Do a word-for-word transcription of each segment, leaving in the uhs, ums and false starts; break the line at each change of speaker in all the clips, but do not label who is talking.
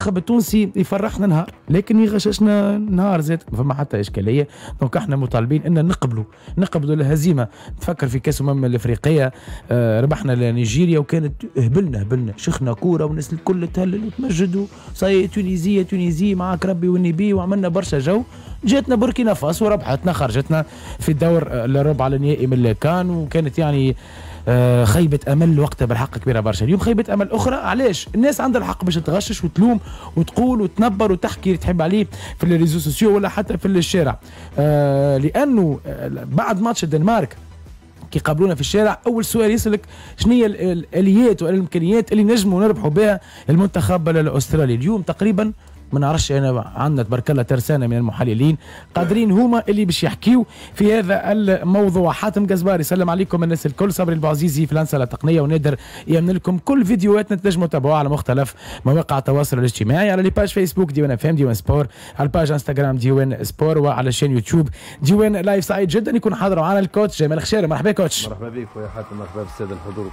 المنتخب التونسي يفرحنا نهار لكن يغششنا نهار زاد، ما فما حتى اشكاليه. donc احنا مطالبين ان نقبلوا نقبلوا الهزيمه. تفكر في كاس الامم الافريقية، آه ربحنا نيجيريا وكانت هبلنا هبلنا شخنا كورة والناس الكل تهلل وتمجد، ça y est Tunisie Tunisie معاك ربي والنبي، وعملنا برشا جو. جاتنا بوركينا فاسو وربحتنا، خرجتنا في الدور الربع النهائي من الكان، وكانت يعني آه خيبة أمل وقتها بالحق كبيرة برشا. اليوم خيبة أمل أخرى. علاش؟ الناس عندها الحق باش تغشش وتلوم وتقول وتنبر وتحكي اللي تحب عليه في les réseaux sociaux ولا حتى في الشارع، آه لأنه بعد ماتش الدنمارك كي قابلونا في الشارع أول سؤال يسألك شنو هي الآليات والإمكانيات اللي نجموا نربحوا بها المنتخب الأسترالي. اليوم تقريبا ما نعرفش انا، عندنا تبارك الله ترسانه من المحللين قادرين هما اللي باش يحكيو في هذا الموضوع. حاتم قزباري يسلم عليكم الناس الكل، صبري البعزيزي في الانسة التقنية، ونادر يامن لكم كل فيديوهاتنا تنجموا تتابعوها على مختلف مواقع التواصل الاجتماعي، على les pages فيسبوك ديوان اف ام ديوان سبور، على ال page انستغرام ديوان سبور، وعلى chaîne يوتيوب ديوان لايف. سعيد جدا يكون حاضر معنا ال coach جمال خشيرة. مرحبا coach.
مرحبا بك خويا حاتم، مرحبا بالساده الحضور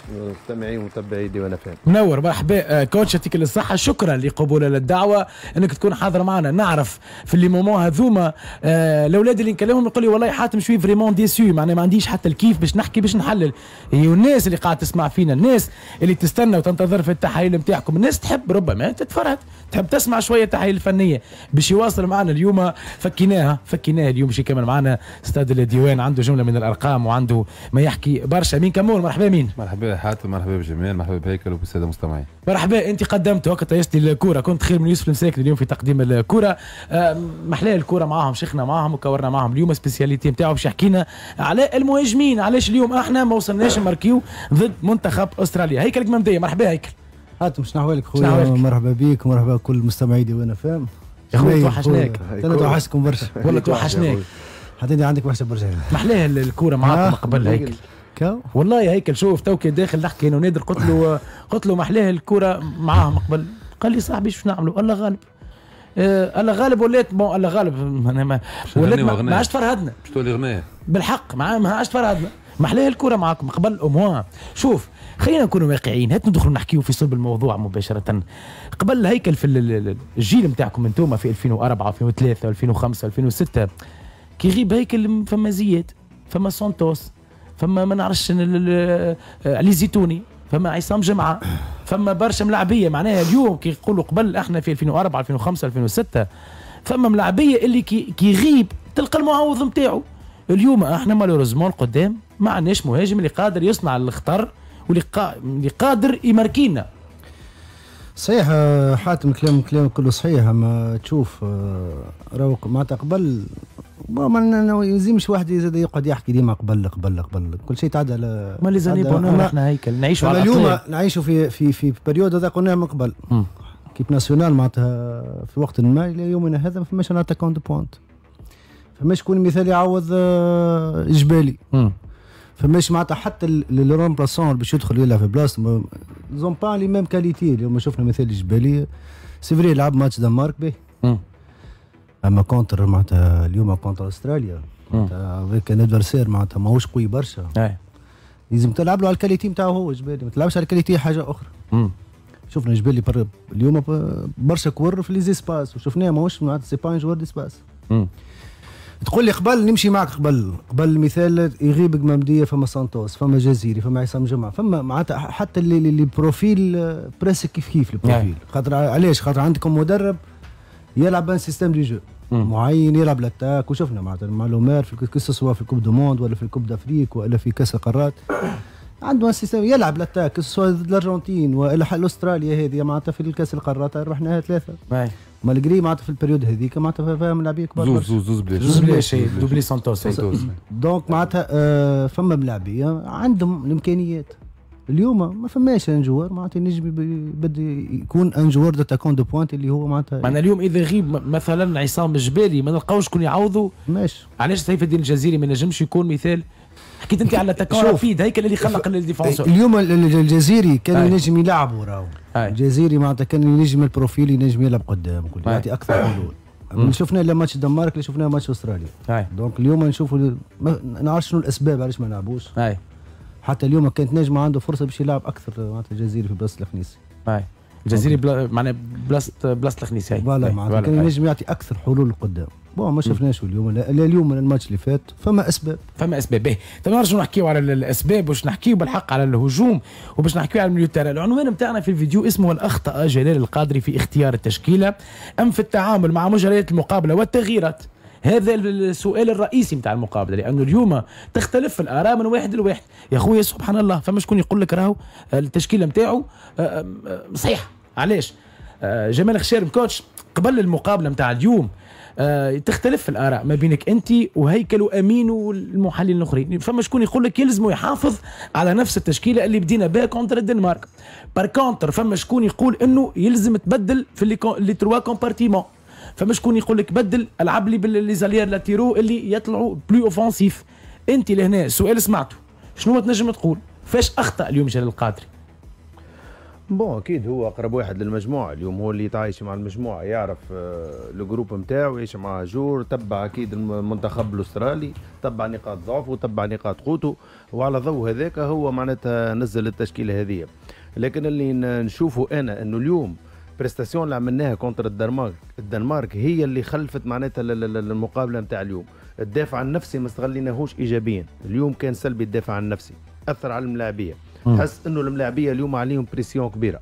والمستمعين ومتابعي ديوان اف ام.
منور، مرحبا coach، يعطيك الصحة، شكرا لقبول الدعوة انك تكون حاضر معنا. نعرف في les moments هذوما آه الاولاد اللي نكلمهم يقول لي والله حاتم je suis vraiment déçu، معناها ما عنديش حتى الكيف باش نحكي باش نحلل. والناس اللي قاعدة تسمع فينا، الناس اللي تستنى وتنتظر في التحاليل نتاعكم، الناس تحب ربما تتفرهد، تحب تسمع شوية تحاليل الفنية باش يواصل معنا. اليوم فكيناها فكيناها اليوم باش يكمل معنا استاد الديوان، عنده جملة من الارقام وعنده ما يحكي برشا. مين كمون، مرحبا مين.
مرحبا حاتم، مرحبا بجمال، مرحبا بهيكل وبالساده المستمعين.
مرحبا، انت قدمت وقت طيشت الكورة، كنت خير من يوسف المساكن اليوم في تقديم الكره. محلاه الكره معاهم، شيخنا معاهم وكورنا معاهم. اليوم spécialité نتاعو باش يحكينا على المهاجمين، علاش اليوم احنا ما وصلناش نماركيو ضد منتخب استراليا. هيكل قمامديه، مرحبا هيكل.
حاتم شنو احوالك خويا؟ مرحبا بيك ومرحبا بكل مستمعي ديوان اف ام.
يا خويا توحشناك.
انا توحشتكم برشا
والله توحشناك.
حتى انت عندك وحشة برشا.
محلاه الكورة معاكم قبل هيكل. والله يا هيكل شوف تو كي داخل نحكي انا ونادر، قلت له قلت له محلاه الكورة معاهم قبل، قال لي صاحبي شو نعملوا؟ الله غالب. آه الله غالب ولات bon الله غالب ما ولات ما عادش تفرهدنا.
باش تولي غنايه
بالحق، ما عادش تفرهدنا. محلاه الكورة معاكم قبل au moins. شوف خلينا نكونوا واقعيين، هات ندخلوا نحكيو في صلب الموضوع مباشرة. قبل هيكل في الجيل نتاعكم انتوما في ألفين وأربعة ألفين وثلاثة ألفين وخمسة ألفين وستة، كي يغيب هيكل فما زياد، فما سانتوس، فما ما نعرفش علي زيتوني، فما عصام جمعه، فما برشا ملاعبيه. معناها اليوم كي يقولوا قبل احنا في ألفين وأربعة ألفين وخمسة ألفين وستة فما ملاعبيه اللي كي يغيب تلقى المعوض نتاعو. اليوم احنا malheureusement القدام ما عندناش مهاجم اللي قادر يصنع الخطر واللي قا... اللي قادر يماركينا.
صحيح حاتم، كلام كلام كله صحيح. اما تشوف راهو معناتها قبل ما يلزمش واحد يزيد يقعد يحكي ديما قبل قبل قبل، كل شيء تعدى على
ما les années bonheur. احنا هيكل نعيشوا على
اليوم، نعيشوا في في في période هذا قلناه من قبل. équipe nationale معناتها في وقت ما الى يومنا هذا ما فماش un attaquant de pointe، فماش شكون مثال يعوض جبالي، فماش معناتها حتى le remplaçant باش يدخل يلعب في بلاصة ils ont pas les mêmes qualités. اليوم شفنا مثال الجبالي، c'est vrai لعب ماتش دنمارك به، اما contre معناتها اليوم contre استراليا معناتها avec un adversaire معناتها ماهوش قوي برشا، لازم تلعب له على ال qualité نتاعو هو جبالي، ما تلعبش على ال qualité حاجة اخرى. مم. شفنا جبالي اليوم برشا كور في les espaces وشفناه ماهوش معناتها c'est pas un joueur d'espace. تقول لي قبل نمشي معك قبل قبل مثال يغيب قمامديه فما سانتوس، فما جزيري، فما عصام جمعه، فما معناتها حتى اللي les profils presque كيف كيف ال profil. خاطر علاش؟ خاطر عندكم مدرب يلعب un système de jeu معين، يلعب l'attaque، وشفنا معناتها مع لومير في que ce soit في ال coupe du monde ولا في ال coupe d'Afrique ولا في كاس القارات، عنده un système يلعب l'attaque، que ce soit ضد الارجنتين والا الاستراليا هذه معناتها في الكاس القارات ربحناها ثلاثة malgré معناتها في ال période هذيك معناتها فيها ملاعبيه كبار.
زوز زوز زوز بلاش
زوز بلاش doublé سانتوس.
donc معناتها آه فما ملاعبيه عندهم الامكانيات. اليوم ما فماش un joueur معناتها ينجم يبدا يكون un joueur d'attaquant de pointe اللي هو معناتها
معناها اليوم اذا غيب مثلا عصام الجبالي ما نلقاوش شكون يعوضوا.
ماشي.
علاش سيف الدين الجزيري ما نجمش يكون مثال؟ حكيت انت على attaquant rapide هيكل اللي خلق ال défenseur.
اليوم الجزيري كان ينجم يلعبوا راهو الجزيري معناتها كان ينجم ال profil ينجم يلعب قدام يعطي اكثر حلول. شفنا لا ماتش الدنمارك اللي شفناه ماتش استراليا. donc اليوم نشوفوا ما نعرفش شنو الاسباب علاش ما لعبوش. حتى اليوم كانت نجم عنده فرصة باش يلعب اكثر معناتها الجزيري في بلاصة الخنيسي.
الجزيري بلا معناها بلاصة بلاصة الخنيسي.
voilà معناتها كان ينجم يعطي اكثر حلول لقدام. bon ما شفناش اليوم، لا اليوم ولا الماتش اللي فات. فما اسباب،
فما اسباب. باهي، تو نرجعوا نحكيو على الاسباب، باش نحكيو بالحق على الهجوم وباش نحكيو على ال milieu terrain. العنوان نتاعنا في الفيديو اسمه الاخطاء جلال القادري في اختيار التشكيلة ام في التعامل مع مجريات المقابلة والتغييرات. هذا السؤال الرئيسي نتاع المقابله، لانه اليوم تختلف الاراء من واحد لواحد. يا خويا سبحان الله، فما شكون يقول لك راهو التشكيلة نتاعو صحيحه. علاش؟ جمال خشارم coach قبل المقابلة نتاع اليوم تختلف الاراء ما بينك انت وهيكل وامين والمحللين الاخرين. فما شكون يقول لك يلزم يحافظ على نفس التشكيلة اللي بدينا بها contre الدنمارك. par contre فما شكون يقول انه يلزم تبدل في les trois compartiments. فما شكون يقول لك بدل، العب لي ب les arrières latéraux اللي يطلعوا plus offensifs. انت لهنا السؤال سمعته، شنو تنجم تقول؟ فاش اخطا اليوم جلال القادري؟
bon اكيد هو اقرب واحد للمجموعة اليوم، هو اللي يتعايش مع المجموعة، يعرف ال groupe نتاعو، يعيش مع joueurs، تبع اكيد المنتخب الاسترالي، تبع نقاط ضعفه وتبع نقاط قوته، وعلى ضوء هذاك هو معناتها نزل التشكيلة هذه. لكن اللي نشوفه انا انه اليوم prestation اللي عملناها contre الدنمارك، الدنمارك هي اللي خلفت معناتها المقابلة نتاع اليوم. الدافع النفسي ما استغليناهوش ايجابيا، اليوم كان سلبي الدافع النفسي، اثر على الملاعبيه. تحس انه الملاعبيه اليوم عليهم pression كبيرة.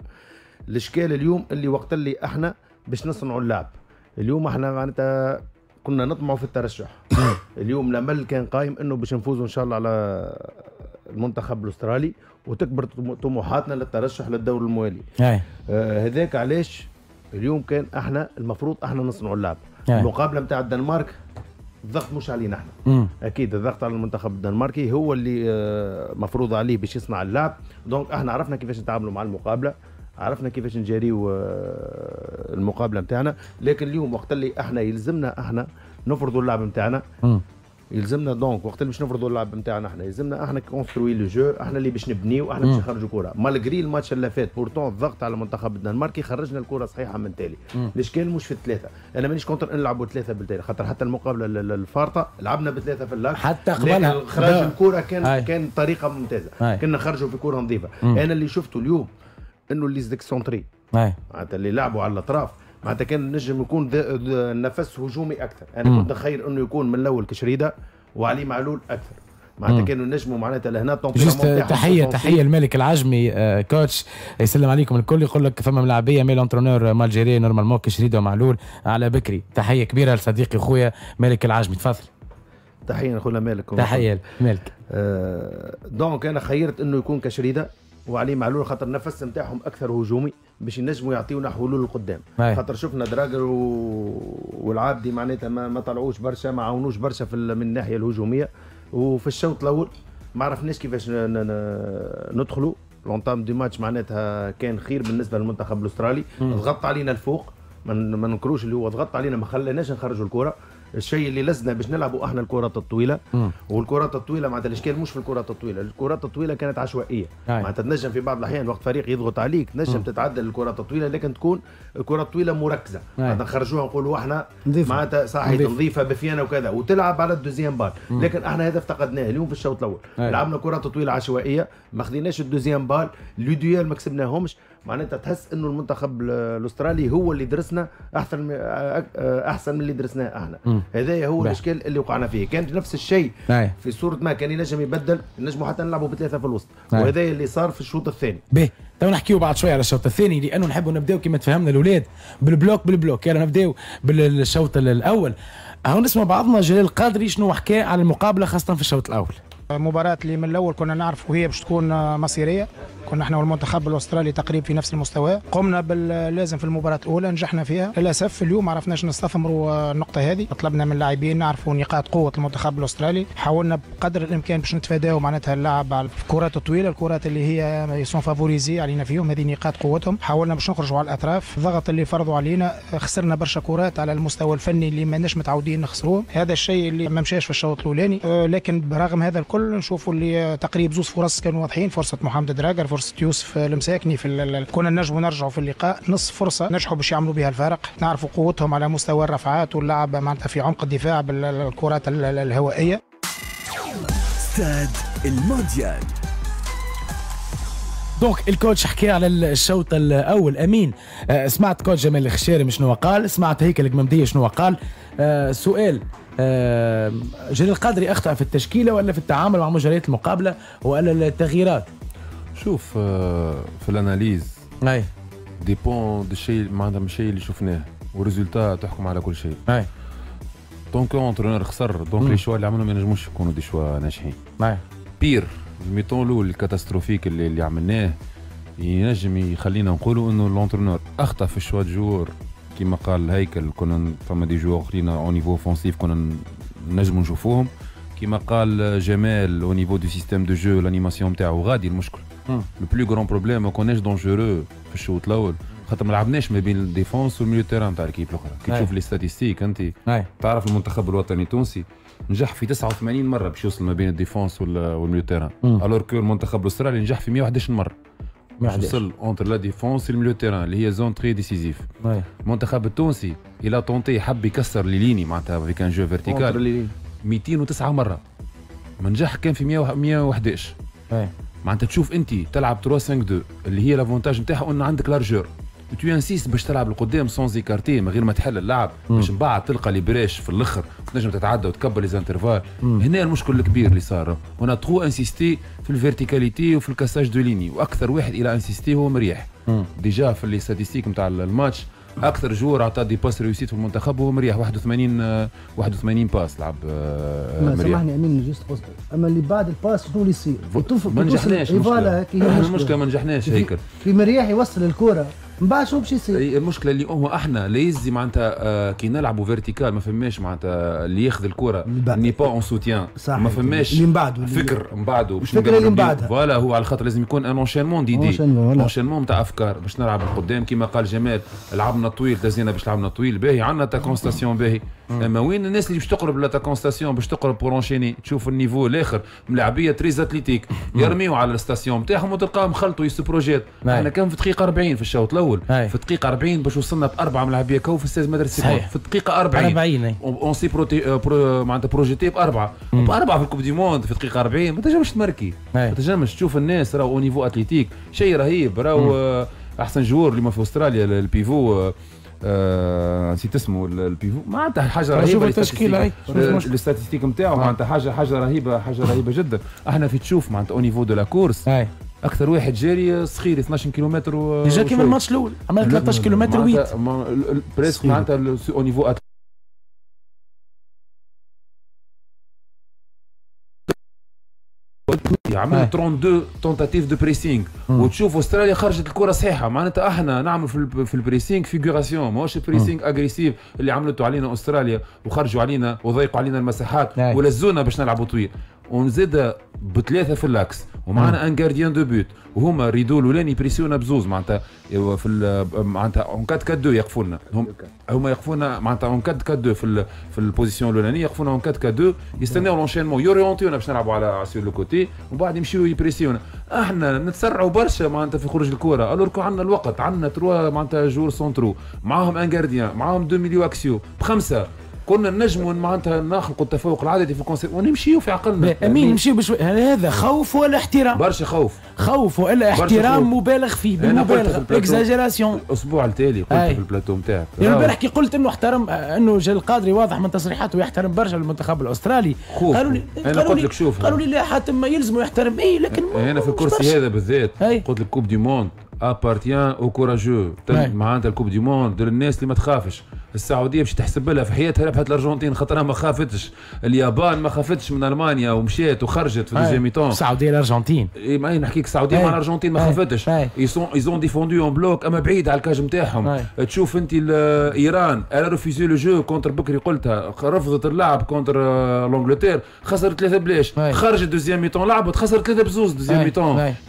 الاشكال اليوم اللي وقت اللي احنا باش نصنعوا اللعب، اليوم احنا معناتها كنا نطمعوا في الترشح. اليوم الامل كان قايم انه باش نفوزوا ان شاء الله على المنتخب الاسترالي وتكبر طموحاتنا للترشح للدور الموالي. آه هذاك علاش اليوم كان احنا المفروض احنا نصنعوا اللعب. المقابلة نتاع الدنمارك الضغط مش علينا احنا. مم. اكيد الضغط على المنتخب الدنماركي، هو اللي مفروض عليه باش يصنع اللعب. donc احنا عرفنا كيفاش نتعاملوا مع المقابلة، عرفنا كيفاش نجاريو المقابلة نتاعنا. لكن اليوم وقت اللي احنا يلزمنا احنا نفرضوا اللعب نتاعنا، يلزمنا donc وقت اللي باش نفرضوا اللعب نتاعنا احنا يلزمنا احنا construire le jeu، احنا اللي باش نبنيو، احنا باش نخرجوا كره. malgré الماتش اللي فات pourtant الضغط على المنتخب الدنماركي خرجنا الكره صحيحه من تالي. الاشكال مش في الثلاثة، انا مانيش contre نلعبوا ثلاثة بالتالي، خاطر حتى المقابلة الفارطه لعبنا بثلاثة في اللاك،
حتى قبلها
خرج الكره كان هاي. كان طريقه ممتازة. هاي. كنا نخرجوا في كره نظيفة. انا اللي شفته اليوم انه les excentrés معناتها اللي لعبوا على الاطراف معناتها كان نجم يكون نفس هجومي اكثر. انا كنت نخير انه يكون من الاول كشريده وعلي معلول اكثر، معناتها كانوا نجموا معناتها لهنا.
تحية تحية الملك العجمي آه coach، يسلم عليكم الكل، يقول لك فما ملاعبيه mais l'entraîneur mal géré normalement كشريده ومعلول على بكري. تحية كبيرة لصديقي خويا مالك العجمي، تفضل.
تحية خونا مالك.
تحية مالك.
آه donc انا خيرت انه يكون كشريده وعلي معلول خاطر النفس نتاعهم اكثر هجومي باش ينجموا يعطيونا حلول لقدام. خاطر شفنا دراجر و... والعابدي معناتها ما, ما طلعوش برشا، ما عاونوش برشا في من الناحية الهجومية. وفي الشوط الاول ما عرفناش كيفاش ن... ن... ندخلوا l'entame du match، معناتها كان خير بالنسبة للمنتخب الاسترالي. ضغط علينا الفوق، ما ننكروش اللي هو ضغط علينا، ما خليناش نخرجوا الكره. الشيء اللي لزنا باش نلعبوا احنا الكرات الطويلة. مم. والكرات الطويلة معناتها الاشكال مش في الكرات الطويلة، الكرات الطويلة كانت عشوائية. معناتها تنجم في بعض الاحيان وقت فريق يضغط عليك تنجم تتعدل الكرات الطويلة، لكن تكون الكرات الطويلة مركزه، معناتها نخرجوها نقولوا احنا معناتها صحيح نظيفة بفيانه وكذا وتلعب على ال deuxième balle. لكن احنا هذا افتقدناه اليوم في الشوط الاول. أي. لعبنا كرات طويلة عشوائية، ما خذيناش ال deuxième balle، les duels ما كسبناهمش. معناتها تحس انه المنتخب الاسترالي هو اللي درسنا احسن احسن من اللي درسناه احنا. هذا هو الاشكال اللي وقعنا فيه. كان نفس الشيء في صوره ما كان ينجم يبدل، نجموا حتى نلعبوا بثلاثة في الوسط، وهذا اللي صار في الشوط الثاني.
باهي، تو نحكيو بعد شوية على الشوط الثاني، لانه نحبوا نبداو كما تفهمنا الاولاد بال bloc بال bloc. يلا نبداو بالشوط الاول. هاو نسمع بعضنا جلال القادري شنو حكى على المقابلة خاصة في الشوط الاول.
مباراة اللي من الأول كنا نعرف وهي باش تكون مصيرية، كنا احنا والمنتخب الأسترالي تقريبا في نفس المستوى، قمنا باللازم في المباراة الأولى نجحنا فيها، للأسف اليوم ما عرفناش نستثمروا النقطة هذه، طلبنا من اللاعبين نعرفوا نقاط قوة المنتخب الأسترالي، حاولنا بقدر الإمكان باش نتفاداو معناتها اللعب على الكرات الطويلة، الكرات اللي هي sont favorisées علينا فيهم، هذه نقاط قوتهم، حاولنا باش نخرجوا على الأطراف، الضغط اللي فرضوا علينا، خسرنا برشا كرات على المستوى الفني اللي ماناش متعودين نخسروه، هذا الشيء اللي ما مشاش في الشوط الأولاني، لكن برغم هذا الكل نشوفوا اللي تقريب زوز فرص كانوا واضحين، فرصة محمد دراجر، فرصة يوسف المساكني في ال... كنا نجموا نرجعوا في اللقاء، نص فرصة نجحوا باش يعملوا بها الفارق، نعرفوا قوتهم على مستوى الرفعات واللعب معناتها في عمق الدفاع بالكرات الهوائية.
استاد المونديال.
donc ال coach حكى على الشوط الاول. امين آه سمعت coach جمال الخشارم شنو قال، سمعت هيكل القمامديه شنو قال. آه سؤال، آه جلال القادري اخطا في التشكيلة ولا في التعامل مع مجريات المقابلة ولا التغييرات؟
شوف آه في ال analyse
اي
dépend الشيء معناتها من الشيء اللي شفناه وال résultat تحكم على كل شيء.
اي
donc entraîneur خسر، donc les choix اللي عملهم ما ينجموش يكونوا des choix ناجحين.
اي
pire ال mi-temps الاول ال catastrophique اللي, اللي عملناه ينجم يخلينا نقولوا انه l'entraîneur اخطا في ال choix joueurs كيما قال هيكل، كنا فما des joueurs اخرين au niveau offensif كنا نجموا نشوفوهم، كيما قال جمال au niveau du système de jeu l'animation نتاعو غادي المشكل. le plus grand problème ما كناش dangereux في الشوط الاول خاطر ما لعبناش ما بين ال défense وال milieu terrain تاع l'équipe الاخرى. كي تشوف les statistiques انت تعرف المنتخب الوطني التونسي نجح في تسعة وثمانين مرة باش يوصل ما بين ال défense وال milieu terrain، alors que المنتخب الاسترالي نجح في مية وحداش مرة باش وصل entre la défense وال milieu terrain اللي هي zone très décisive. المنتخب التونسي il a tenté حب يكسر les lignes معناتها avec un jeu vertical مئتين وتسعة مرة، ما نجح كان في مية وحداش. معناتها تشوف انت تلعب ثلاثة خمسة اثنين اللي هي l'avantage نتاعها ان عندك largeur، tu insistes باش تلعب القدام sans écarter من غير ما تحل اللعب باش من بعد تلقى les brèches في الاخر وتنجم تتعدى وتكبر les intervalles. هنا المشكل الكبير اللي صار، on a trop insisté في ال verticalité وفي ال cassage de lignes، واكثر واحد il a insisté هو مريح. déjà في les statistiques نتاع الماتش اكثر joueur عطى des passes réussies في المنتخب هو مريح، واحد وثمانين واحد وثمانين passes لعب مريح.
سامحني امين juste قصدي، اما اللي بعد ال passe شنو اللي يصير؟
ما نجحناش المشكلة، ما نجحناش هيكل
في مريح يوصل الكره من بعد شنو باش يصير؟
المشكلة اللي هو احنا لا يزي معناتها آه كي نلعبوا vertical ما فماش معناتها اللي ياخذ الكره n'est pas en soutien، ما فماش
اللي من بعده
فكر من بعده
باش الفكرة اللي من بعدها.
voilà هو على خاطر لازم يكون un enchaînement d'idées، enchaînement نتاع افكار باش نلعب القدام كيما قال جمال لعبنا طويل تزينا باش لعبنا طويل باهي، عندنا attaquant station باهي، اما وين الناس اللي باش تقرب l'attaquant station باش تقرب pour enchaîner؟ تشوف ال niveau الاخر ملاعبيه très athlétiques يرميو على ال station نتاعهم وتلقاهم خلطوا ils se projettent. احنا كان في دقيقة أربعين في الشوط الاول، في دقيقة أربعين باش وصلنا باربعة ملاعبيه كو في ستة متر seconde في الدقيقة أربعين on s'est projeté معناتها projeté باربعة باربعة في ال Coupe du monde في دقيقة أربعين ما تنجمش تمركي، ما تنجمش تشوف الناس راهو au niveau athlétique شيء رهيب، راهو احسن joueur اللي ما في استراليا ال pivot آه نسيت اسمه ال pivot معناتها حاجة رهيبة
التشكيلة
ال statistiques نتاعو معناتها حاجة حاجة رهيبة حاجة رهيبة جدا. احنا في تشوف معناتها au niveau de la course اكثر واحد جاري صخيري اثناش كيلومتر و
déjà كيما الماتش الاول عمل ثلاثة عشر كيلومتر ويت
presque معناتها au niveau عمل اثنين وثلاثين tentatives de pressing وتشوف استراليا خرجت الكره صحيحه، معناتها احنا نعمل في في ال pressing figuration ماهوش pressing agressif اللي عملته علينا استراليا وخرجوا علينا وضيقوا علينا المساحات ولزونا باش نلعبوا طويل، ونزيد بثلاثة في l'axe ومعنا un gardien de but وهما rideau الاولاني يبريسيونا بزوز معناتها في معناتها en أربعة أربعة اثنين يقفوا لنا، هم هما يقفونا معناتها en أربعة أربعة اثنين في في ال position الاولانية يقفونا en أربعة أربعة اثنين يستناو l'enchaînement يوريونتيونا باش نلعبوا على sur le côté ومن بعد يمشيو يبريسيونا. احنا نتسرعوا برشا معناتها في خروج الكره alors que عندنا الوقت، عندنا trois معناتها joueurs centraux معاهم un gardien معاهم deux milieux axiaux بخمسة، كنا نجموا معناتها نخلقوا التفوق العددي في ال concept ونمشيو في عقلنا.
امين نمشيو بشوي، هذا خوف ولا احترام؟
برشا خوف،
خوف ولا احترام مبالغ فيه، بالمبالغه exagération.
الاسبوع التالي قلت في البلاتو نتاعك
البارح كي قلت انه احترم انه جلال القادري واضح من تصريحاته يحترم برشا المنتخب الاسترالي، قالوا لي
انا قلت لك شوف،
قالوا لي لا حاتم ما يلزمه يحترم اي، لكن
انا في الكرسي هذا بالذات قلت لك Coupe du monde appartient aux courageux، معناتها ال Coupe du monde للناس اللي ما تخافش. السعودية باش تحسب لها في حياتها ربحت الارجنتين خاطرها ما خافتش، اليابان ما خافتش من المانيا ومشات وخرجت في deuxième mi-temps.
السعودية الارجنتين
اي ما نحكيك السعودية مع الارجنتين ما خافتش، ils sont ils ont défendu en bloc اما بعيد على ال cage نتاعهم. تشوف انت ايران elle a refusé le jeu contre بكري قلتها رفضت اللعب contre l'Angleterre خسرت ثلاثة بلاش، خرجت deuxième mi-temps لعبت خسرت ثلاثة بزوز deuxième mi-temps.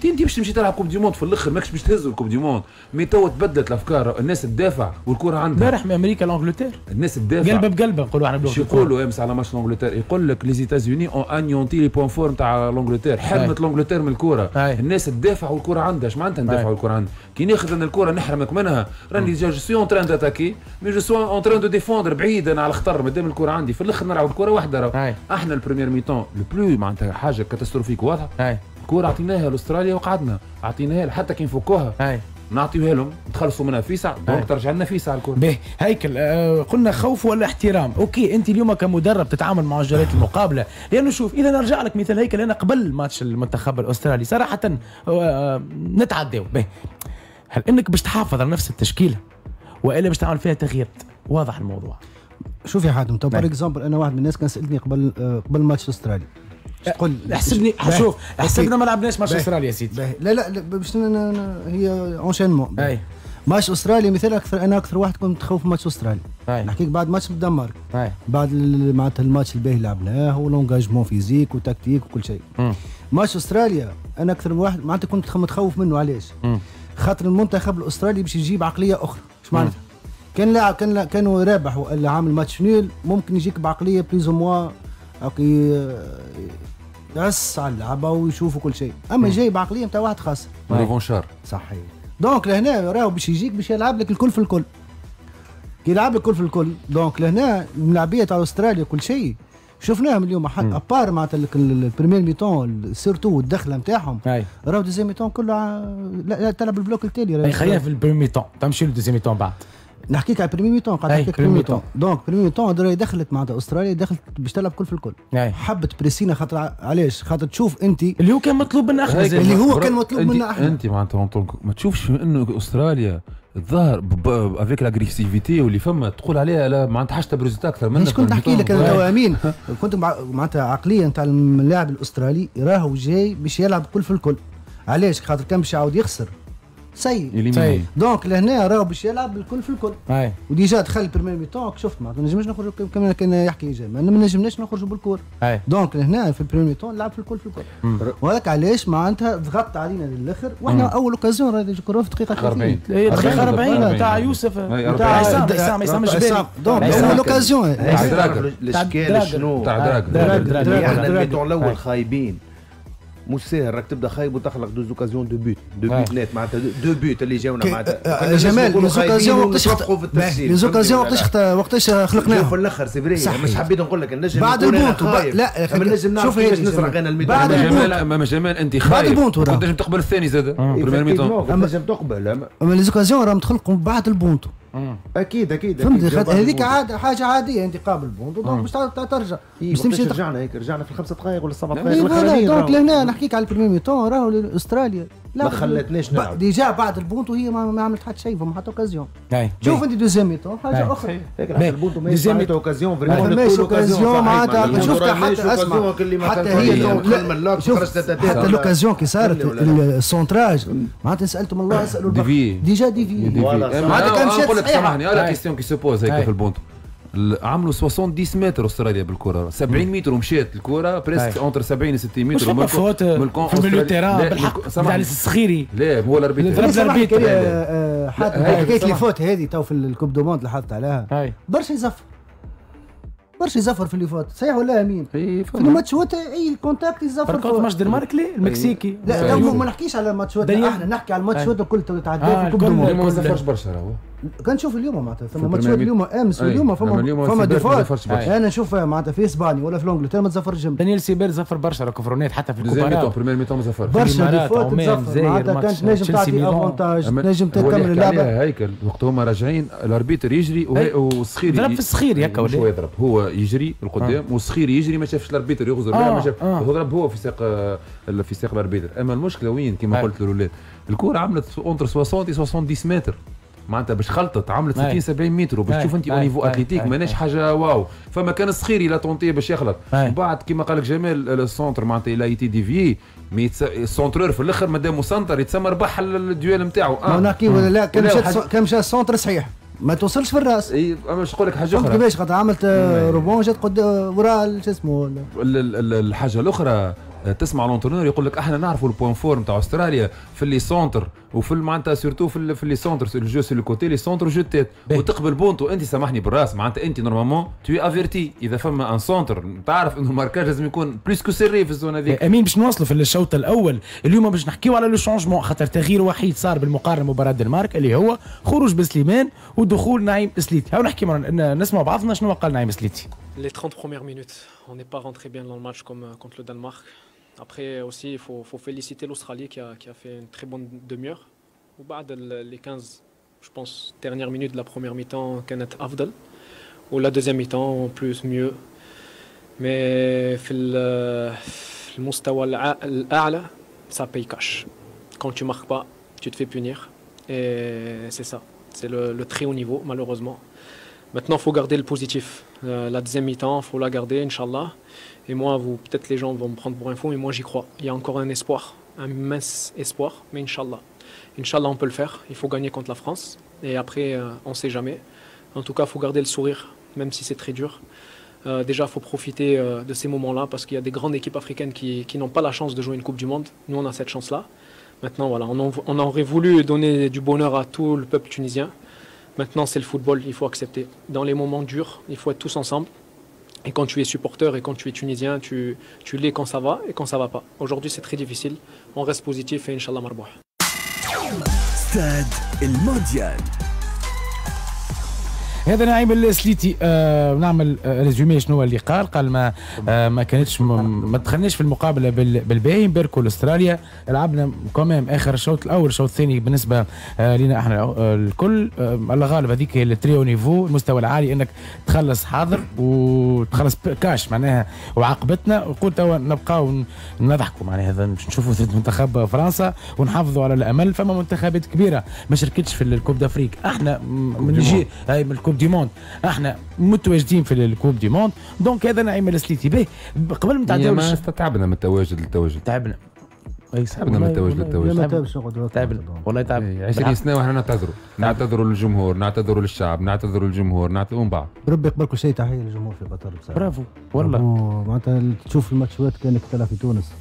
انت باش تمشي تلعب Coupe du monde في الاخر ماكش باش تهز ال Coupe du monde، mais تو تبدلت الافكار، الناس تدافع والكره عندها.
امبارح من امريكا l'Angleterre
الناس تدافع
قلبه بقلبه نقولوا احنا
شو يقولوا امس على ماتش l'Angleterre؟ يقول لك les États-Unis ont anéanti les points forts نتاع l'Angleterre، حرمت l'Angleterre من الكره. الناس تدافع والكره عندها، اش معناتها ندافع والكره عندها؟ كي ناخذ انا الكره نحرمك منها راني je suis en train d'attaquer mais je suis en train de défendre بعيدا على الخطر مادام الكره عندي، في الاخر نلعب الكره وحده. احنا ال première mi-temps le plus معناتها حاجة catastrophique واضحة، الكورة عطيناها لاستراليا وقعدنا عطيناها حتى كي نفكوها نعطيوها لهم نتخلصوا منها فيسع donc ترجع لنا فيسع الكره.
باهي هيكل آه قلنا خوف ولا احترام، OK انت اليوم كمدرب تتعامل مع مجريات المقابلة، لانه شوف اذا نرجع لك مثال هيكل انا قبل ماتش المنتخب الاسترالي صراحة آه نتعداو. باهي هل انك باش تحافظ على نفس التشكيلة والا باش تعمل فيها تغيير؟ واضح الموضوع.
شوف يا حاتم تو par exemple انا واحد من الناس كان سالتني قبل قبل ماتش استراليا تقول
احسبني شوف احسبنا ما لعبناش ماتش استراليا يا سيدي.
لا لا باش هي enchaînement. ماتش استراليا مثال اكثر انا اكثر واحد كنت متخوف ماتش استراليا. نحكيك بعد ماتش الدنمارك بعد معناتها الماتش الباهي لعبناه و l'engagement physique و tactique وكل شيء. ماتش استراليا انا اكثر واحد معناتها كنت متخوف منه. علاش؟ خاطر المنتخب الاسترالي باش يجيب عقلية اخرى. اش معناتها؟ كان لاعب كان كانوا رابح ولا عامل match nul ممكن يجيك بعقلية plus ou moins يعس على اللعبة ويشوفوا كل شيء، اما جاي بعقلية نتاع واحد خاسر
revanchard.
صحيح. donc لهنا راهو باش يجيك باش يلعب لك الكل في الكل. كي يلعب لك الكل في الكل donc لهنا الملاعبيه تاع استراليا كل شيء شفناهم اليوم à part معناتها ال première mi-temps surtout الدخلة نتاعهم راهو deuxième mi-temps كله لا تلعب ال bloc التالي.
خلينا في ال première mi-temps تمشي لل deuxième mi-temps بعد.
نحكيك على première mi-temps قاعد نحكيك première mi-temps. donc première mi-temps دخلت معناتها استراليا دخلت باش تلعب كل في الكل. حبت بريسينا خاطر علاش؟ خاطر تشوف انت
اللي هو كان مطلوب منا احنا
اللي هو كان مطلوب منا احنا.
انت معناتها ما تشوفش انه استراليا الظاهر avec l'agressivité واللي فما تقول عليها لا معناتها حاجة ب résultat اكثر منك.
مش كنت نحكي لك انا توا امين كنت معناتها عقلية نتاع اللاعب الاسترالي راهو جاي باش يلعب كل في الكل. علاش؟ خاطر كان باش يعاود يخسر سيء. donc لهنا راهو باش يلعب الكل في الكل. و déjà دخل première mi-temps شفت معناتها ما نجمش نخرجوا كما كان يحكي جمال ما نجمناش نخرجوا بالكور. donc لهنا في ال première mi-temps لعب في الكل في الكل. وهذاك علاش معناتها ضغط علينا للاخر واحنا اول occasion راهي الكره في دقيقة
ثلاثين دقيقة أربعين تاع يوسف تاع عصام عصام عصام الجبالي.
donc اول occasion
الاشكال شنو
تاع دراجر
احنا ال mi-temps الاول خايبين مش ساهل راك تبدا خايب وتخلق deux occasions de but deux buts nets معناتها deux buts اللي جاونا معناتها
جمال les occasions وقتاش les occasions وقتاش وقتاش خلقناهم
في الاخر c'est vrai. مش حبيت نقول لك النجم
بعد البونتو لا
النجم نعرف كيفاش نسرق انا ال mi-temps.
بعد جمال جمال انت خايب كنت تنجم تقبل الثاني زاد première mi-temps
تنجم تقبل
اما les occasions راهم تخلقوا بعد البونتو.
اكيد اكيد
فهمت هذيك عادة حاجة عادية انت قابل بونتو donc باش ترجع
باش تمشي رجعنا هيك رجعنا في الخمسة دقائق ولا السبع دقائق الاخرانيين.
donc لهنا نحكيك على ال première mi-temps راهو استراليا
ما خلتناش نلعب
déjà بعد البونتو هي ما عملت حتى شيء فما حتى occasion. شوف انت deuxième mi-temps حاجة اخرى
البونتو ما فماش occasion
vraiment occasion معناتها شفتها حتى اسمع حتى هي حتى l'occasion كي صارت ال centrage معناتها سالتهم الله اسالوا déjà dévié
معناتها كان مشات. نقول لك سامحني la question qui se pose هيك في البونتو عملوا سبعين متر استراليا بالكرة سبعين متر ومشات الكره presque entre سبعين و ستين متر
من faute في milieu terrain بالحق تاع الصخيري.
لا هو l'arbitre
ضرب l'arbitre. حكاية les fautes هذه تو في ال coupe du monde لاحظت عليها برشا يزفر برشا يزفر في les fautes صحيح ولا امين؟ في الماتشات اي contact يزفر.
par contre ماتش دنمارك المكسيكي
لا ما نحكيش على الماتشات احنا نحكي على الماتشات الكل تعداو في ال coupe du monde
ما زفرش برشا راهو
كان نشوف اليوم معناتها ثم ماتشات اليوم امس واليوم فما فما des fautes انا نشوف معناتها في اسبانيا ولا في انجلترا ما تزفرش جنب.
دانيال سيبير زفر برشا راكو حتى في الكوبا
première mi-temps زفر
برشا des fautes تزفر معناتها كانت تنجم تعطي avantage تنجم تكمل اللعبة.
هيكل وقت هما راجعين l'arbitre يجري والصخير
ضرب في الصخير هكا
ولا هو يضرب هو يجري القدام والصخير يجري ما شافش l'arbitre يغزر ما شاف هو ضرب هو في ساق في ساق l'arbitre. اما المشكلة وين كما قلت للاولاد الكره عملت entre ستين سبعين متر معناتها باش خلطت عملت ستين سبعين متر وباش تشوف انت au niveau athlétique ماناش حاجة واو. فما كان الصخيري l'a tenté باش يخلط بعد كيما قال لك جمال ال centre معناتها il a été dévié mais ال centreur في الاخر مادام centre يتسمى ربح ال duel نتاعو.
آه. نحكي ولا لا كان مشى كان مشى ال centre صحيح ما توصلش في الراس.
اي اما باش نقول لك حاجة اخرى
كيفاش خاطر عملت rebond جات قدام وراء شو اسمه
الحاجة الاخرى تسمع l'entraîneur يقول لك احنا نعرفوا ال point fort نتاع استراليا في les centres وفي معناتها surtout في في les centres ال jeu sur le côté les centres jeu tête وتقبل بونتو انت سامحني بالراس معناتها انت normalement tu es averti اذا فما un centre تعرف انه ال marquage لازم يكون plus que serré في ال zone هذيك.
امين باش نواصلوا في الشوط الاول اليوم باش نحكيو على le changement خاطر تغيير وحيد صار بالمقارنة مباراة الدنمارك اللي هو خروج بسليمان ودخول نعيم سليتي. هاو نحكي نسمع بعضنا شنو قال نعيم سليتي.
Les trente premières minutes, on n'est pas rentré bien dans le match comme contre le Danemark. Après aussi, il faut, faut féliciter l'Australie qui a, qui a fait une très bonne demi-heure. وبعد les quinze, je pense, dernières minutes de la première mi-temps كانت أفضل. و la deuxième mi-temps en plus mieux. Mais في المستوى الأعلى ça paye cash. Quand tu marques pas, tu te fais punir. Et c'est ça. C'est le, le très haut niveau, malheureusement. Maintenant, il faut garder le positif. Euh, la deuxième mi-temps, il faut la garder, إن شاء الله. Et moi, vous, peut-être les gens vont me prendre pour un fou, mais moi, j'y crois. Il y a encore un espoir, un mince espoir, mais إن شاء الله. إن شاء الله, on peut le faire. Il faut gagner contre la France. Et après, euh, on ne sait jamais. En tout cas, il faut garder le sourire, même si c'est très dur. Euh, déjà, il faut profiter euh, de ces moments-là, parce qu'il y a des grandes équipes africaines qui, qui n'ont pas la chance de jouer une Coupe du Monde. Nous, on a cette chance-là. Maintenant, voilà, on, en, on aurait voulu donner du bonheur à tout le peuple tunisien. Maintenant, c'est le football, il faut accepter. Dans les moments durs, il faut être tous ensemble. Et quand tu es supporter et quand tu es tunisien, tu, tu l'es quand ça va et quand ça va pas. Aujourd'hui, c'est très difficile. On reste positif et إن شاء الله مربوح.
ستاد المونديال.
هذا نعيم السليتي. آه نعمل آه résumé شنو اللي قال. قال ما آه ما كانتش ما دخلناش في المقابلة بالباهي، نباركوا لاستراليا، لعبنا quand même اخر الشوط الاول الشوط الثاني بالنسبة آه لنا احنا آه الكل. آه الله غالب، هذيك هي ال très haut niveau، المستوى العالي، انك تخلص حاضر وتخلص كاش معناها، وعاقبتنا. وقول توا نبقاو نضحكوا معناها، هذا باش نشوفوا ضد منتخب فرنسا ونحافظوا على الامل. فما منتخبات كبيرة ما شاركتش في ال Coupe d'Afrique، احنا من نجي هاي من ال Coupe du Monde، احنا متواجدين في ال Coupe du Monde. donc هذا نعيم السليتي. به قبل ما تعداو
ما تعبنا من التواجد للتواجد،
تعبنا
تعبنا من التواجد للتواجد،
تعبنا والله تعبنا.
عشرين سنة واحنا نعتذروا، نعتذروا للجمهور، نعتذروا للشعب، نعتذروا للجمهور، نعتذروا من بعد.
بربي قبل كل شيء تحية للجمهور في قطر بصراحة.
برافو والله،
معناتها تشوف الماتشات كانك تلعب في تونس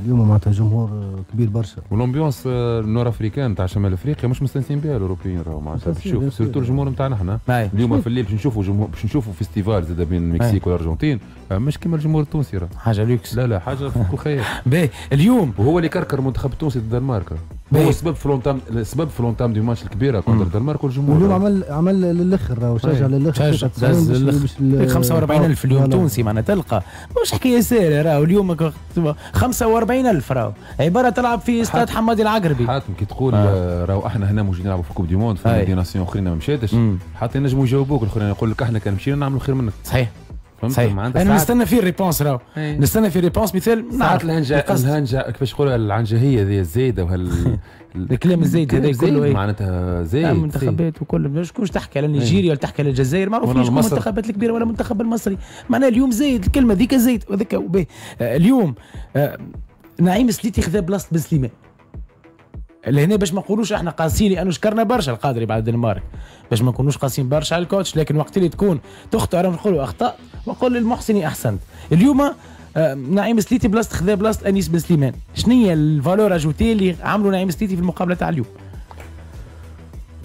اليوم، معناتها جمهور كبير برشا.
وال ambiance ال nord-africaine تاع شمال افريقيا مش مستانسين بها الاوروبيين، راهو معناتها تشوف surtout الجمهور نتاعنا احنا اليوم في الليل باش نشوفوا جمهور، باش نشوفوا festival زاد بين المكسيك والارجنتين، مش كيما الجمهور التونسي راه
حاجة لوكس.
لا لا حاجة فوق الخيال.
باهي اليوم
وهو اللي كركر المنتخب التونسي ضد الدنمارك، هو السبب في l'entame، السبب في l'entame du match الكبيرة contre الدنمارك والجمهور.
اليوم عمل عمل للاخر وشجع للاخر
خمسة وأربعين ألف اليوم تونسي معناها تلقى مش حكاية ساهله راهو. اليوم خمسة وأربعين ألف راهو عبارة تلعب في استاد حمادي العقربي.
حاتم كي تقول آه. راهو احنا هنا موجودين نلعبوا في Coupe du Monde في des nations اخرين ما مشاتش، حتى ينجموا يجاوبوك الاخرين يقول لك احنا كان مشينا نعملوا خير منك.
صحيح صحيح. انا نستنى في ال réponse راهو، نستنى في réponse. مثال
ساعات الهنجه الهنجه كيفاش نقولوا العنجهيه هذه الزايدة وهال
الكلام الزايد هذا كله
معناتها زايد
المنتخبات وكل. شكون تحكي على نيجيريا ولا تحكي على الجزائر، معروفين شكون المنتخبات الكبيرة ولا المنتخب المصري. معناها اليوم زايد الكلمة ذيك زايد وذاك. اليوم نعيم سليتي خذا بلاصة بن سليمان لهنا، باش ما نقولوش احنا قاسيين لانه شكرنا برشا القادري بعد الدنمارك، باش ما نكونوش قاسيين برشا على ال coach، لكن وقت اللي تكون تخطئ راهم نقولوا اخطاء ونقول للمحسن احسنت. اليوم نعيم سليتي بلاصة خذا بلاصة انيس بن سليمان، شنو هي ال valeur ajoutée اللي عملوا نعيم سليتي في المقابلة تاع اليوم؟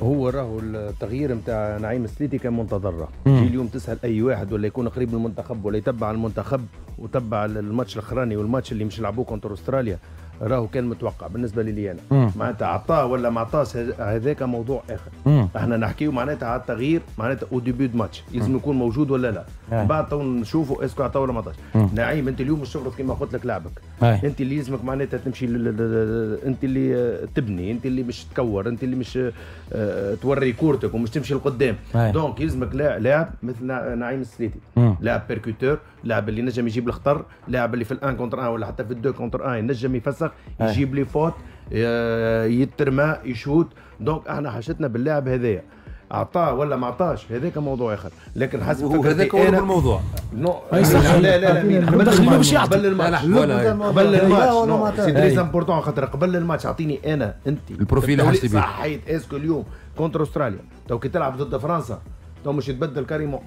هو راهو التغيير نتاع نعيم سليتي كان منتظر. تجي اليوم تسال اي واحد ولا يكون قريب من المنتخب ولا يتبع المنتخب وتبع الماتش الاخراني والماتش اللي مش لعبوه contre استراليا، راهو كان متوقع بالنسبة لي انا. معناتها عطاه ولا ما عطاش هذاك موضوع اخر. مم. احنا نحكيو معناتها على التغيير معناتها au début de match لازم يكون موجود ولا لا. مم. بعد تو نشوفوا est-ce que عطاه ولا ما عطاش. نعيم انت اليوم مش تفرض كما قلت لك لعبك. أي. انت اللي لازمك معناتها تمشي ل... ل... انت اللي تبني، انت اللي مش تكور، انت اللي مش اه... توري كورتك ومش تمشي لقدام. donc يلزمك لاعب مثل نعيم السليتي، لاعب percuteur، لاعب اللي نجم يجيب الخطر، لاعب اللي في ال un contre un ولا حتى في ال deux contre un ينجم يفسخ، يجيب les fautes، يترمى، يشوت. donc احنا حاجتنا باللاعب هذايا، اعطاه ولا ما اعطاش هذاك موضوع اخر، لكن حسب
فكرتي هذاك هو الموضوع.
non لا لا لا قبل الماتش، قبل الماتش قبل الماتش c'est très important، خاطر قبل الماتش اعطيني انا انت
ال profil اللي حاجتي بيه.
صحيت est-ce que اليوم contre استراليا تو كي تلعب ضد فرنسا تو مش يتبدل carrément.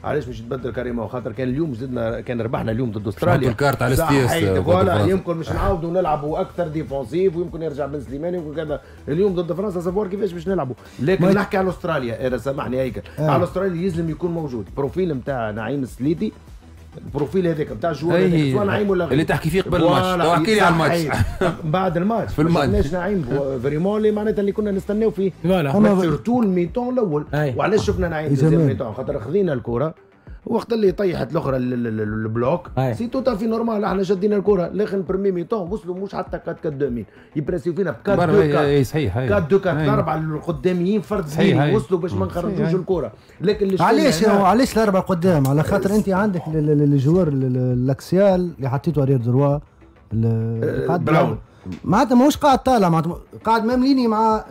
علاش مش يتبدل carrément؟ خاطر كان اليوم زدنا، كان ربحنا اليوم ضد استراليا
الكارت على ستيس
voilà، يمكن مش نعاودوا نلعبوا اكثر défensif، ويمكن يرجع بن سليمان، يمكن كذا. اليوم ضد فرنسا savoir كيفاش باش نلعبوا، لكن نحكي على استراليا انا سامحني هيك آه. على استراليا يلزم يكون موجود profil نتاع نعيم السليتي، ال profil هذاك نتاع ال joueur هذاك سواء نعيم ولا غير
اللي تحكي فيه قبل الماتش. تو احكي لي على الماتش
بعد الماتش
في الماتش
نعيم vraiment اللي معناتها اللي كنا نستناو فيه surtout ال mi-temps الاول. وعلاش شفنا نعيم deuxième mi-temps؟ خاطر خذينا الكره وقت اللي طيحت الاخرى ال bloc c'est tout à fait normal، احنا شدينا الكره. لكن première mi-temps وصلوا مش حتى أربعة أربعة اثنين، يبرسيو فينا ب أربعة اثنين أربعة.
صحيح
أربعة اثنين أربعة الاربعة القداميين فرد زين وصلوا باش ما نخرجوش الكره. لكن
علاش علاش الاربعة قدام؟ على خاطر انت عندك ال joueur ال axial اللي حطيته arrière droit
براون،
معناتها ماهوش قاعد طالع، معناتها قاعد même ligne مع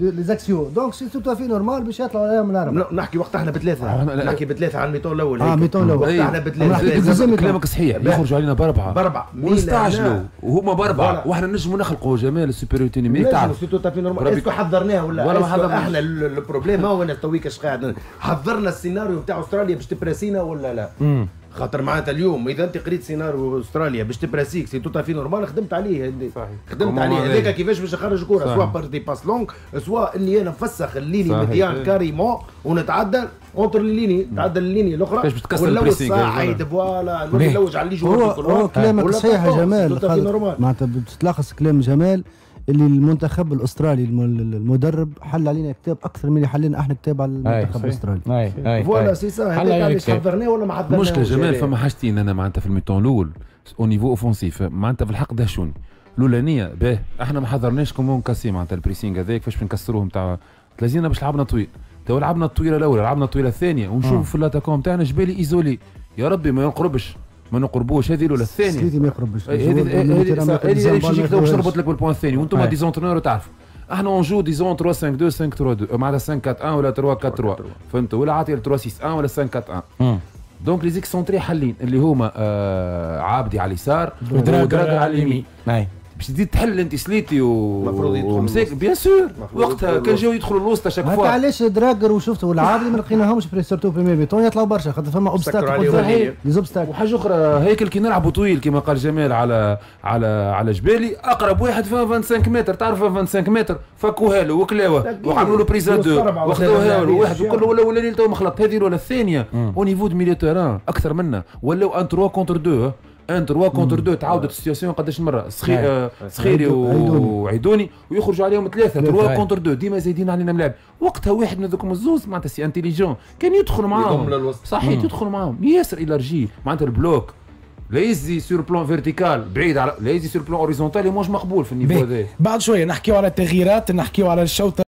les axiaux، donc c'est tout à fait normal باش يطلعوا عليهم الاربعة.
نحكي وقت احنا بثلاثة، نحكي بثلاثة على ال mi-temps الاول.
اه mi-temps الاول
وقت احنا بثلاثة.
كلامك صحيح، يخرجوا علينا باربعة
باربعة
ونستعجلوا وهما باربعة، واحنا نجموا نخلقوا جمال ال supériorité numérique.
تعرف c'est tout à fait normal. est-ce que حضرناه ولا ولا ما حضرناش؟ احنا ال problème هو انا تويك اش قاعد حضرنا السيناريو نتاع استراليا باش تبراسينا ولا لا؟ خاطر معناتها اليوم اذا انت قريت سيناريو استراليا باش تبراسيك c'est tout à fait normal، خدمت عليه. صحيح. خدمت عليه هذاك كيفاش باش نخرج كره، سواء par des passes longues، سواء اني انا نفسخ ال ligne médiane carrément ونتعدى entre les lignes، نتعدى ال ligne الاخرى
باش تكسر ال pressing.
صحيح voilà نلوج على les joueurs.
هو كلامك صحيح يا جمال، معناتها تتلخص كلام جمال اللي المنتخب الاسترالي المدرب حل علينا كتاب اكثر من اللي حلينا احنا كتاب على المنتخب الاسترالي.
اي
voilà c'est ça، هذاك علاش حضرناه ولا ما حضرناهوش.
المشكلة جمال فما حاجتين انا معناتها في ال mi-temps الاول au niveau offensif معناتها في الحق دهشوني. الاولانية باه احنا ما حضرناش comment casser معناتها ال pressing هذاك كيفاش نكسروه نتاع تلازينا باش لعبنا طويل. تو لعبنا الطويلة الاولى، لعبنا الطويلة الثانية، ونشوف في l'attaquant تاعنا جبالي isolé، يا ربي ما ينقربش ما نقربوش. هذه الاولى. الثانية
سليتي ما يقربش،
هذه هذه باش نجيك باش نربط لك بال point الثاني، وانتم des entraîneurs تعرفوا احنا on joue disons ثلاثة خمسة اثنين خمسة ثلاثة اثنين معناتها خمسة أربعة واحد ولا ثلاثة أربعة ثلاثة، فهمت؟ ولا عاطي ثلاثة ستة واحد ولا خمسة أربعة واحد. donc les excentrés حلين اللي هما آه عابدي على اليسار ودراجر على اليمين. باش تزيد تحل انت سليتي و ومساك bien sûr وقتها كان جاو يدخلوا الوسط chaque fois.
علاش دراجر وشفت والعابدي ما لقيناهمش surtout première mi-temps يطلعوا برشا خاطر فما obstacle les obstacles.
وحاجه اخرى هيكل كي نلعبوا طويل كما قال جمال على على على جبالي اقرب واحد فيها خمسة وعشرين متر، تعرف خمسة وعشرين متر فكوها له وكلاوه وعملوا له prise à deux واخذوها له واحد وكل ولا ولا تو مخلط. هذه الاولى. الثانية au niveau de milieu terrain اكثر منا ولاو un ثلاثة contre اثنين، un ثلاثة contre اثنين تعاودت ال situation قداش مرة سخي سخيري وعيدوني ويخرجوا عليهم ثلاثة ثلاثة contre اثنين ديما زايدين علينا ملاعب. وقتها واحد من ذوكم الزوز معناتها c'est intelligent كان يدخل معاهم صحيح يدخل معاهم ياسر élargi معناتها ال bloc لا يزي sur plan vertical بعيد على لا يزي sur plan horizontal مش مقبول في ال niveau هذا.
بعد شوية نحكيو على التغييرات، نحكيو على الشوط.